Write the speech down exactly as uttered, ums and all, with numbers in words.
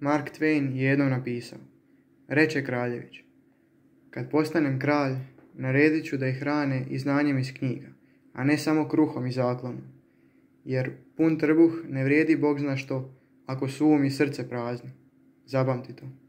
Mark Twain je jednom napisao: reče kraljević, kad postanem kralj, naredit ću da ih hrane i znanjem iz knjiga, a ne samo kruhom i zaklonom. Jer pun trbuh ne vrijedi Bog zna što, ako su um i srce prazni. Zapamti to.